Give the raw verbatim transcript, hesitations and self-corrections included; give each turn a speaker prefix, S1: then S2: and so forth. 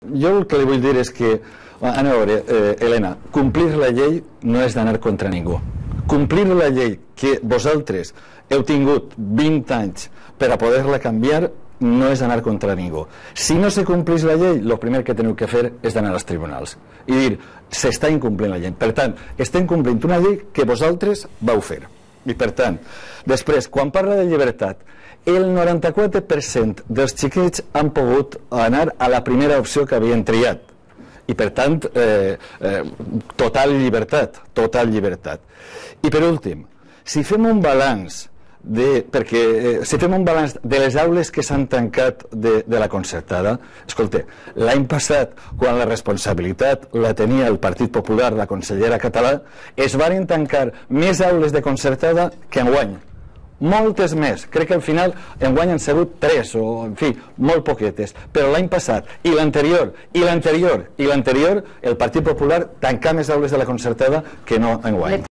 S1: Jo el que li vull dir és que, a veure, eh, Helena, complir la llei no és d'anar contra ningú. Complir la llei que vosaltres heu tingut vint anys per a poder-la canviar no és d'anar contra ningú. Si no se complís la llei, el primer que teniu que fer és d'anar als tribunals i dir, s'està incomplint la llei. Per tant, estem complint una llei que vosaltres vau fer. I per tant, després, quan parla de llibertat, el noranta-quatre per cent dels xiquets han pogut anar a la primera opció que havien triat. I per tant, eh, eh, total llibertat, total llibertat. I per últim, si fem un balanç de, perquè eh, si fem un balanç de les aules que s'han tancat de, de la concertada, escolta, l'any passat, quan la responsabilitat la tenia el Partit Popular, la consellera Català, es van tancar més aules de concertada que enguany. Moltes més, crec que al final enguany han sigut tres o, en fi, molt poquetes, però l'any passat i l'anterior, i l'anterior i l'anterior el Partit Popular tancà més aules de la concertada que no enguany.